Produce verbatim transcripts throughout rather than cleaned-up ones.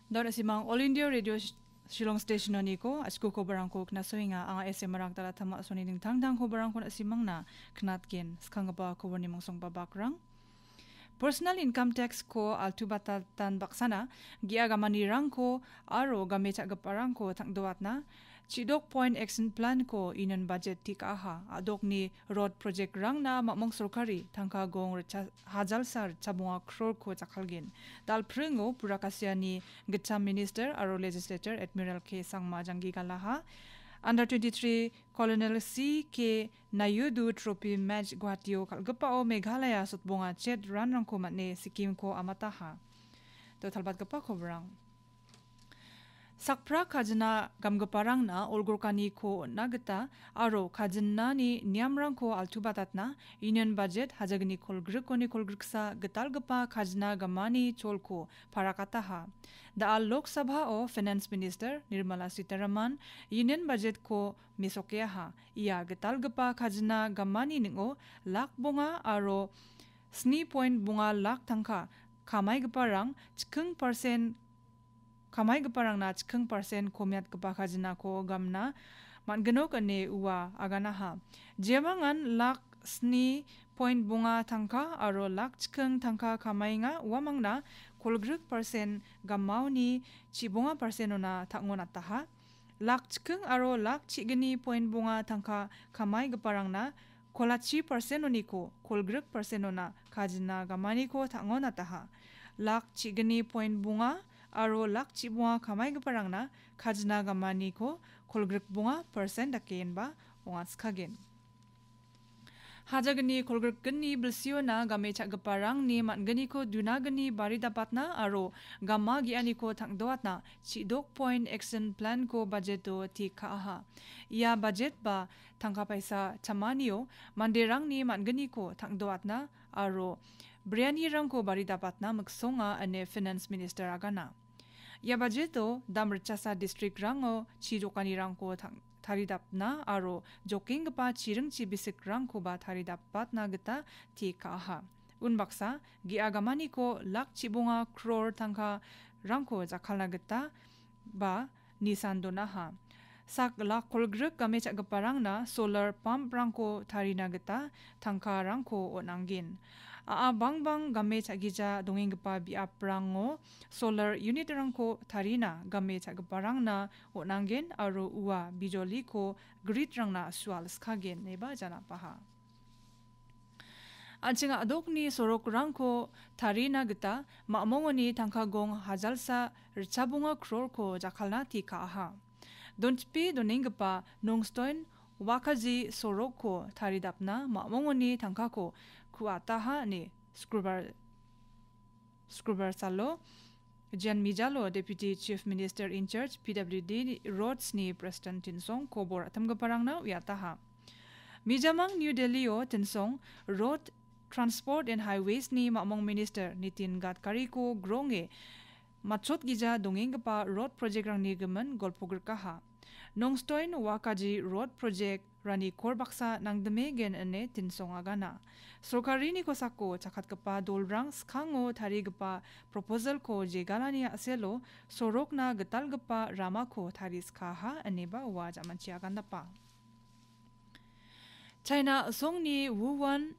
Daun asimang All India Radio Sh-, Shillong Station-oniko, achiko kobarangko knasoenga, anga S M Rangtala Tama Soni dingtang dang kobarangko asimangna knatgen, skanggipa kobarni mongsongba bakrang. Personal income tax ko altubatatan baksana, ge·a gamanirangko aro game cha·giparangko tangdoatna, chidok point action plan ko inon budget tikaha, adokni road project rangna mamong sorkari tangka gong richa-, hajalsa richabonga crore ko jakkalgen. Dalpringo Purakasiani gitcham minister aro legislator Admiral K Sangma janggi galaha. Under twenty-three Colonel C K Nayudu Trophy Match Guwahati-o kal·gipao Meghalaya sotbonga chet ranrangko man·e Sikkim-ko amataha. Dotalbatgipa kobrang. Sakpra kajina gamgiparangna olgorkaniko on·na gita aro kajinani niamrangko altubatatna Union Budget hajagni kolgrikoni kolgriksa gitalgipa kajina gamani cholko parakataha. Da·al Lok Sabha-o Finance Minister Nirmala Sitharaman Union Budget-ko mesokeaha. Ia gitalgipa kajina gamani ning·o lak bonga aro sni point bonga lak tangka kamaigiparang chiking persen, kamaigiparangna chiking persen komiatgipa kajinako gamna man·ginok ine ua aganaha. Jemangan lak sni point bonga tangka aro lak chiking tangka kamaenga uamangna kolgrik persen gamaoni chibonga persen-ona tang·onataha. Lak chiking aro lak chigni point bonga tangka kamaigiparangna kolachi persen-oniko kolgrik persen-ona kajina gamaniko tang·onataha. Lak chigni point bonga aro lak chibonga kamaigiparangna kajina gamaniko kolgrik bonga persen dakeenba ong·atskagen. Hajagni kolgrikgni bilsiona game cha·giparangni man·gniko dunagni baridapatna aro gama ge·aniko tang·doatna chidok point action plan-ko budget-o tik ka·aha. Ia budget ba tangka paisa chamanio manderangni man·gniko tang·doatna aro brianirangko baridapatna miksonga ine Finance Minister agana. Ia budget-o dam ritchasa district-rango chi jokanirangko tang-, taridapna aro jokenggipa chiringchi bisikrangkoba taridapatna gita tik ka·aha. Unbaksa, ge·a gamaniko lak chibonga crore tangkarangko jakkalna gita ba nisan donaha. Sak lak kolgrik game cha·giparangna solar pump-rangko tarina gita tangkarangko on·angen. A·a bangbang game cha·gija dongenggipa biaprango solar unit-rangko tarina game cha·giparangna on·angen aro ua bijoliko grid-rangna sual skagen ineba janapaha. An·ching a·dokni sorokrangko tarina gita mamongoni tangka gong hajalsa ritchabonga crore-ko jakkalna tik ka·aha. Donchipe donenggipa Nongstoin Wakaji sorokko taridapna mamongoni tangkako ku·ataha ine Skrubar, Skrubar salo Jan Mijalo Deputy Chief Minister in Charge P W D Roads-ni President Tinsong kobor atamgiparangna uiataha. Mijamang New Delhi-o Tinsong Road Transport and Highways-ni mamong Minister Nitin Gadkari-ko gronge matchotgija dongenggipa road project-rangni gimin golpogrikaha. Nongstoin Wakaji Road Project-rani kor baksa nangdimegen ine Tinsong agana. Sorkarini kosako chakatgipa dolrang skango tarigipa proposal-ko jegalani a·selo sorokna gitalgipa ramako tariskaha ineba ua jamanchi agandapa. China songni Wuhan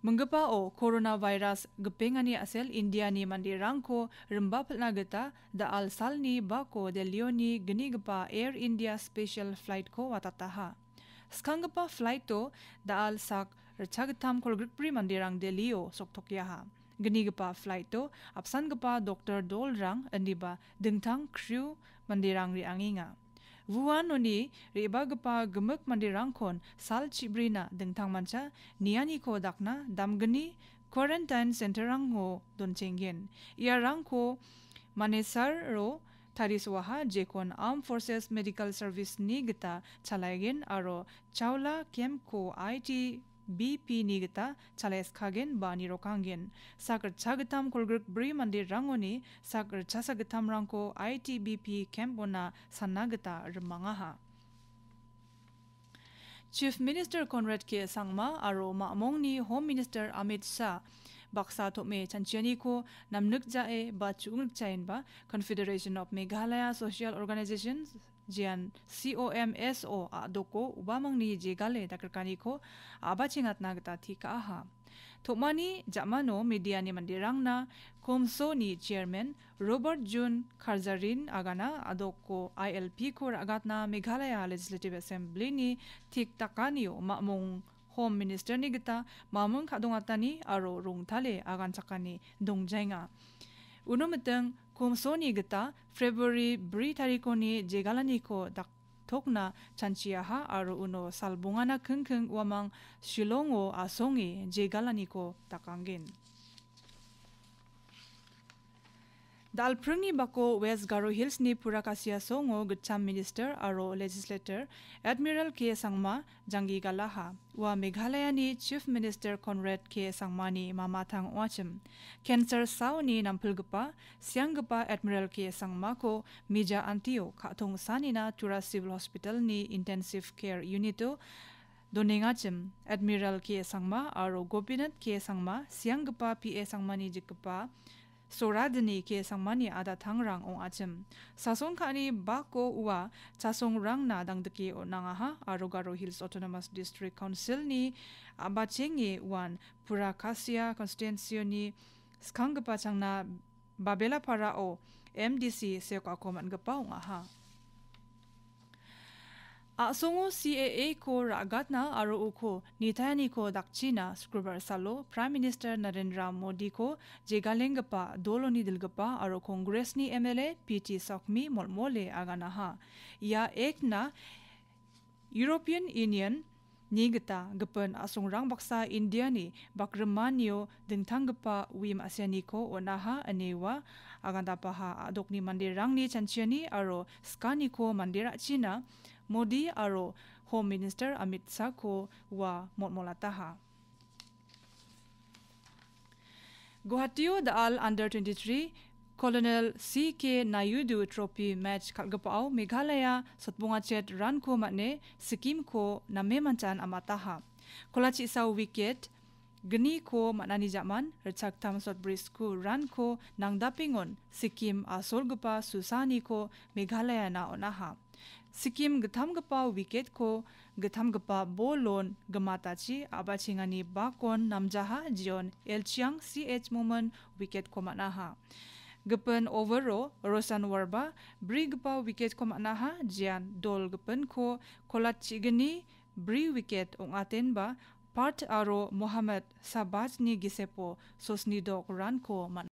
minggipao coronavirus gipengani a·sel Indiani manderangko rimba pil·na gita da·al salni bako Delhioni gnigipa Air India special flight-ko watataha. Skanggipa flight-o da·al sak ritchagittam kolgrikbri manderang Delhio soktokeaha. Gnigipa flight-o apsangipa doktor dolrang indiba dingtang crew manderang re·angenga. Wuhanoni re·bagipa gimik manderangkon sal chibrina dingtangmancha nianiko dakna damgni quarantine center-rango donchenggen. Iarangko Manesar-o tarisoaha, jekon Armed Forces Medical Service-ni gita chalaigen aro Chaula camp-ko I T B P-ni gita chalaiskagen ba nirokanggen. Sak ritchagittam kolgrikbri manderangoni sak ritchasagittamrangko I T B P camp-ona sanna gita rimangaha. Chief Minister Conrad K Sangma aro mamongni Home Minister Amit Shah baksa tom·e chanchianiko namnikjae ba chu·ngnikjaenba Confederation of Meghalaya Social Organizations, jean C O M S O a·doko ubamangni jegale dakrikaniko a·bachengatna gita tekaha. Tom·ani ja·mano mediani manderangna Komsoni chairman Robert Jun Karzarin agana a·doko I L P ko ra·gatna Meghalaya Legislative Assembly-ni tik dakanio mamung Home Minister-ni gita mamung ka·dongatani aro rongtale aganchakani dongjaenga. Uno miting Komsoni gita February bri tarikoni jegalaniko daktokna chanchiaha aro uno salbongana kingking uamang Shillongo asonge jegalaniko dakanggen. Dalpringni bako West Garo Hills-ni pura kasia songo gitcham minister aro legislator Admiral K Sangma janggi galaha. Ua Meghalayani Chief Minister Conrad K Sangmani mamatang ong·achim. Cancer saoni nampilgipa, sianggipa Admiral K Sangmako mija antio ka·tong sanina Tura Civil Hospital-ni Intensive Care Unit-o donengachim. Admiral K Sangma aro Gopinath K Sangma, sianggipa P A Sangmani jikgipa Soradini K Sangmani adatangrang ong·achim. Sasong ka·ani bako ua chasongrangna dangdike on·angaha aro Garo Hills Autonomous District Council-ni a·bachenge uan pura kasia constituency-oni skanggipa changna Babelaparao M D C seokako man·gipa ong·aha. A·songo C A A ko ra·gatna aro uko nitaeniko dakchina Sukrobar salo Prime Minister Narendra Modiko jegalenggipa doloni dilgipa aro Congress-ni M L A P T Sokmi molmole aganaha. Ia Act-na European Union ni gita gipin a·songrang baksa India-ni bakrimanio dingtanggipa uim a·sianiko on·aha ine ua agandapaha a·dokni manderangni chanchiani aro skaniko mande ra·china Modi aro Home Minister Amit Shah-ko ua molmolataha. Guwahatio da·al under twenty-three Colonel C K Naidu Trophy match kal·gipao Meghalaya sotbongachet ranko man·e Sikkim-ko name manchan amataha. Kolachisa wicket gniko man·ani ja·man ritchaktam sotbri sku ranko nangdapengon Sikkim asolgipa susaniko Meghalayana on·aha. Sikkim gittamgipa wicket-ko gittamgipa bolon gimatachi a·bachengani bakon namjaha Jion Elchiang C H Momin wicket-ko man·aha. Gipin over-o Roshan Warba brigipa wicket-ko man·aha, jean dol gipinko kolatchigni bri wicket ong·atenba Pat aro Mohammad Sabajni gisepo sosni dok ranko man·a.